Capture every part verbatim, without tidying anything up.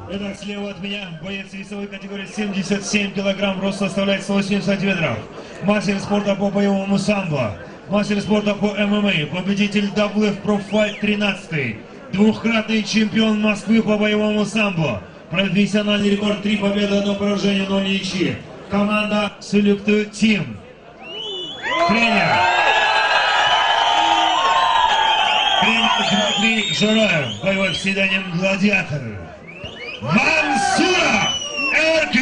Итак, слева от меня боец весовой категории семьдесят семь килограмм, рост составляет сто восемь сантиметров. Мастер спорта по боевому самбо, мастер спорта по ММА, победитель дабл ю эф Pro Fight тринадцать, двухкратный чемпион Москвы по боевому самбо, профессиональный рекорд три победы, одно поражение, ноль ничьи. Команда Селюкту Тим. Тренер. Тренер Дмитрий Жураев, боевой псевдоним Гладиатор. Мансура Эркинбек.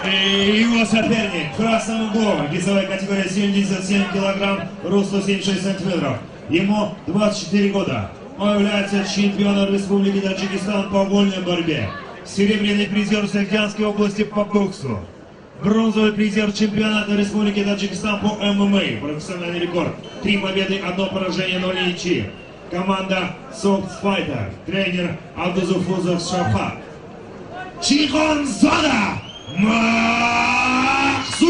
И его соперник в красном углу, весовая категория семьдесят семь килограмм, рост сто семьдесят шесть сантиметров. Ему двадцать четыре года. Он является чемпионом Республики Таджикистан по вольной борьбе. Серебряный призер Сахтиянской области по боксу. Бронзовый призер чемпионата Республики Таджикистан по ММА. Профессиональный рекорд. Три победы, одно поражение, ноль ничьи. Команда Soft Fighter. Тренер Абдузуфузов Шафат. Чихонзада Махсур.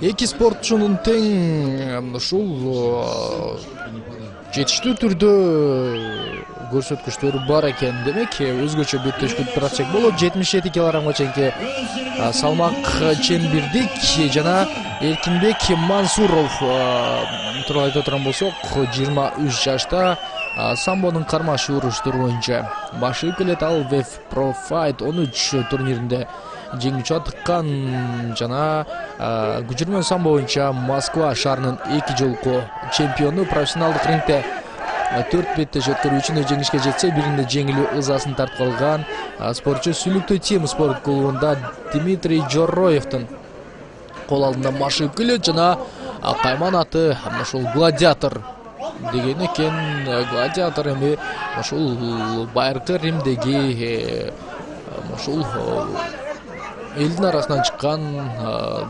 Эки спортчунун тең ушул жетиштүү түрдө көрсөткүчтөрү бар экен. Демек, өзгөчө беттешкү процесс болот. жетимиш жети килограммга чейинки салмак чембирдик жана Эркинбек Мансуров тууралуу айта турган болсок, жыйырма үч жашта самбонун кармаш уруштуру боюнча башыып келет. Ал дабл ю эф Pro Fight он үч турниринде жеңүүчү атыккан жана көчүрмө самбо боюнча Москва шаарынын эки жолку чемпиону. Профессионалдык рингте төрт беттеш өткөрүү үчүн жеңишке жетсе, биринде жеңилүү ызасын тартып алган спортчу Селюкту Тим спорт клубунда Дмитрий Жороевдун кол алдында машыып келет жана кайман аты ушул Гладиатор деген экен. Гладиатор эми ушул байыркы Римдеги ушул элдин арасынан чыккан,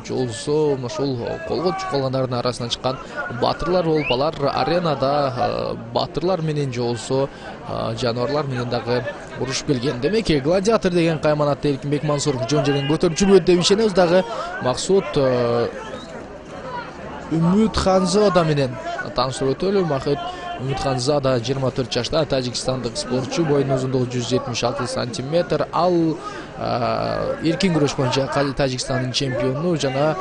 жолсо ушул колго түшүп калгандардын арасынан чыккан батырлар болуп, алар аренада батырлар менен жолсо жаныбарлар менен дагы урушуп келген. Демек, Гладиатор деген кайман атты Эркинбек Мансуров жөн жерден көтөрүп жүрбөйт деп ишенебиз. Дагы Максут Үмүтханзада менен тааныштырып өтөлү. Максут Үмүтханзада жыйырма төрт жашта, тажикстандык спортчу, боюнун узундугу жүз жетимиш алты сантиметр. Ал эркин күрөш боюнча Тажикстандын чемпиону жана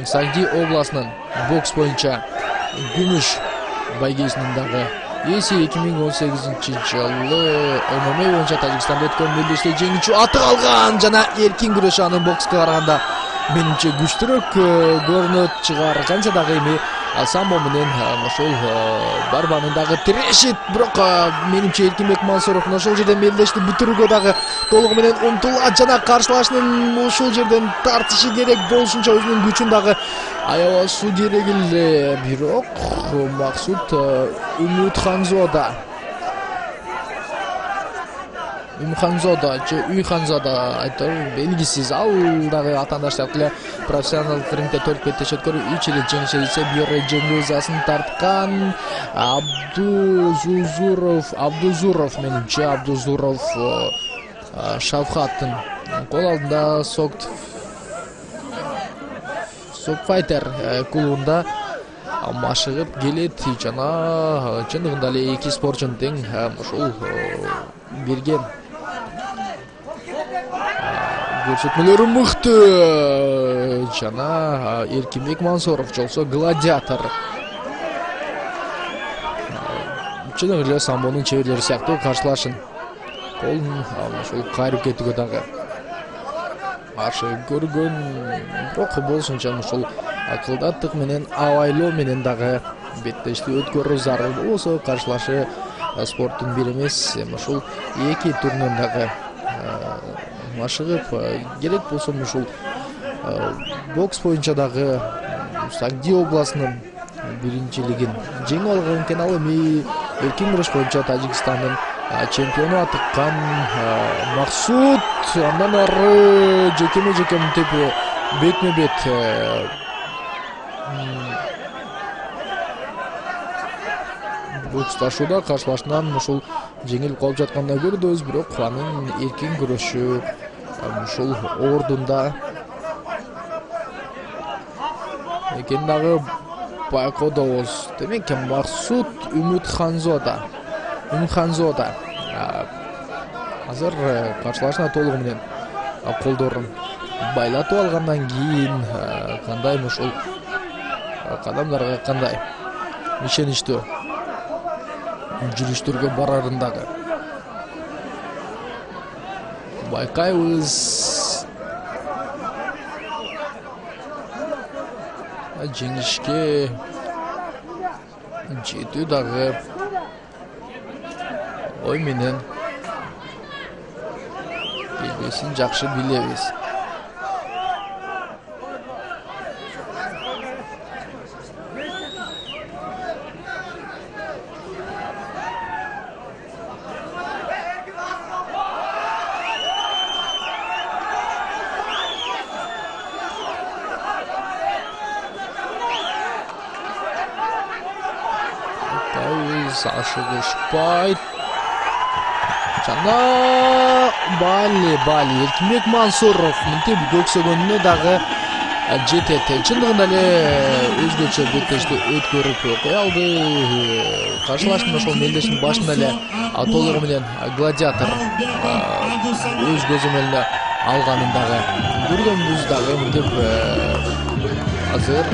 Сагди областынын бокс боюнча күмүш байгесинин дагы ээси. эки миң он сегизинчи жылы ММА боюнча Тажикстанда өткөн белдеште жеңүүчү аты алган жана эркин күрөш анын бокска караганда менимче күчтүүрөөк көрүнөт чыгар. Канча дагы эми самбо менен ошол барбанын дагы тирешит, бирок менимче Эркинбек Мансуров ошол жерден белдешти бүтүрүүгө дагы толугу менен умтулат жана каршылашынын ушул жерден тартышы керек болушунча өзүнүн күчүн дагы аябасуу керек эле. Бирок Максут Үмүтханзада Үмүтханзада же Үйханзада айтор белгисиз. Ал дагы атаандаштап эле профессионалдык рингте төрт беттеш өткөрүп үч ирет жеңишке жетсе, бирөө жеңүү ызасын тарткан. Абдузуров, Абдузуров менимче Абдузуров Шавхаттын кол алдында Soft Fighter клубунда машыгып келет жана чындыгында эле эки спортчунун тең ушул берген көрсөтмөлөрү мыкты жана Эркинбек Мансуров жолсо Гладиатор. Чындыгы эле самбонун чеберлери сыяктуу каршылашын колун ошол кайрып кетүүгө дагы каршы көргөн. Бирок болушунча ушул акылдаттык менен абайлоо менен дагы беттештүү өткөрүү зарыл болсо, каршылашы спорттун бир эмес, ушул эки турунун дагы машыгып керек болсо ушул бокс боюнча дагы Сагди областынын биринчилигин жеңип алган экен. Ал эми эркин күрөш боюнча Тажикстандын чемпиону атыккан Максут. Андан ары жекеме жекеме тепе бетме бет боксташууда каршылашынан ушул жеңилип калып жаткандай көрдүбүз. Бирок анын эркин күрөшү ушул ордунда экен дагы байкоодобуз. Демек Максут Үмүтханзода. Үмүтханзода азыр каршылашына толугу менен колдорун байлатып алгандан кийин кандай ушул кадамдарга кандай ишеничтүү жүрүштөргө барарын дагы байкайбыз. Жеңишке жетүү дагы ой менен келбесин жакшы билебиз. Ашыгышпай жана Бали Бали Эркинбек Мансуров мынтип көксөгөнүнө дагы жетет. Чындыгында эле өзгөчө беттешти өткөрүп кое алды. Каршылаштын ошол мелдештин башында эле толугу менен гладиатор өз көзөмөлүнө алганын дагы көргөнбүз дагы. Мынтип азыр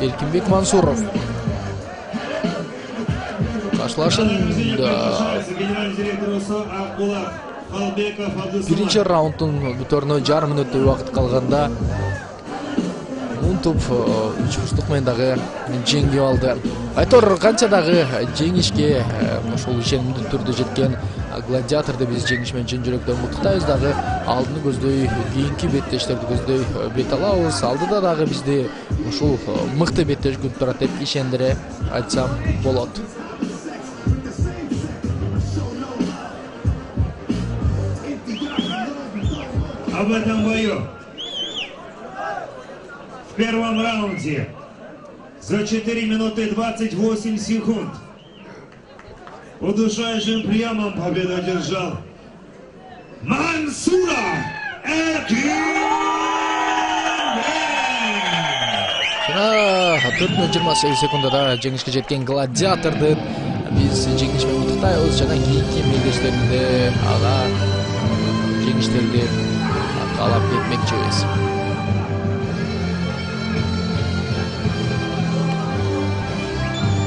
Эркинбек Мансуров биринчи раунддун бүтөрүнө жарым мүнөттөй убакыт калганда Мунтуп үч бурчтук менен дагы жеңип алды. Айтор канча дагы жеңишке ошол ишенимдүү түрдө жеткен гладиаторду биз жеңиш менен чын жүрөктөн куттуктайбыз дагы. Алдыны көздөй, кийинки беттештерди көздөй бет алабыз. Алдыда дагы бизди ушул мыкты беттеш күтүп турат деп ишендире айтсам болот. В этом бою в первом раунде за четыре минуты двадцать восемь секунд удушающим приемом победу одержал Мансура Эркинбек. төрт мүнөт жыйырма сегиз секундада жеңишке жеткен гладиаторду биз жеңиш менен куттуктайбыз жана кийинки мелдештеринде ага жеңиштерди каалап кетмекчибиз.